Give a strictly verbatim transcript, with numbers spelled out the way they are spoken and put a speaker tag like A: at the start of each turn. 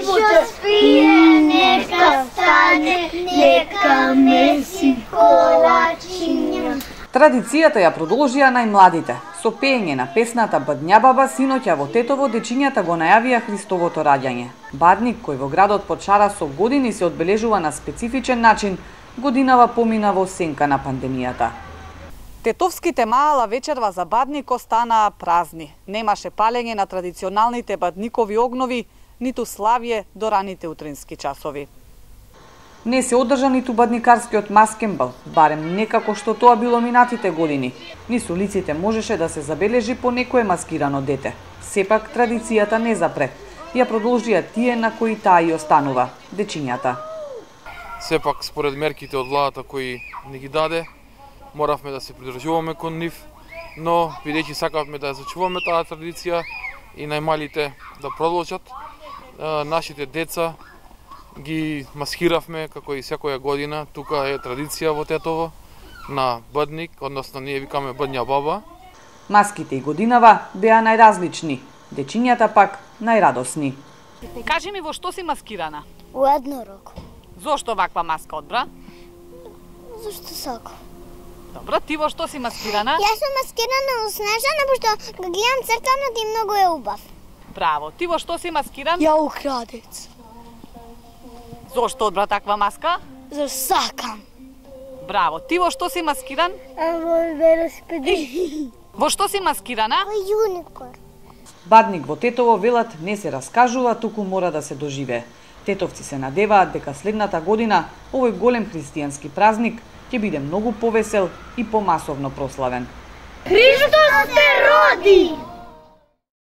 A: што спие, нека стане, нека меси колачиња.
B: Традицијата ја продолжија најмладите. Со пеење на песната Бадња баба синоќа во Тетово дечињата го најавија Христовото раѓање. Бадник кој во градот Почара со години се одбележува на специфичен начин, годинава помина во сенка на пандемијата. Тетовските маала вечерва за Бадник останаа празни. Немаше палење на традиционалните бадникови огнови, ниту славје до раните утрински часови. Не се одржа ниту бадникарскиот маскенбал, барем некако што тоа било минатите години. Ни со улиците можеше да се забележи по некое маскирано дете. Сепак традицијата не запре. Ја продолжија тие на кои таа и останува, дечињата.
C: Сепак според мерките од владата кои ни ги даде, моравме да се придржуваме кон нив, но бидејќи сакавме да ја зачуваме таа традиција и најмалите да продолжат, нашите деца ги маскиравме како и секоја година. Тука е традиција во Тетово на Бадник, односно ние викаме Бадња баба.
B: Маските и годинава беа најразлични, дечињата пак најрадосни.
D: Кажи ми, во што си маскирана?
A: У еднорог.
D: Зошто ваква маска одбра?
A: Зашто сакам.
D: Добро, ти во што си маскирана?
A: Јас сум маскирана у Снежана, пошто го гледам цртанот и многу е убав.
D: Браво, ти во што си маскиран?
A: Ја у крадец.
D: Зошто одбра таква маска?
A: За сакам.
D: Браво, ти во што си маскиран?
A: А во велосипедист.
D: Во што си маскирана?
A: Во юникор.
B: Бадник во Тетово велат не се раскажува, туку мора да се доживее. Тетовци се надеваат дека следната година овој голем христијански празник ќе биде многу повесел и помасовно прославен.
A: Христос се роди!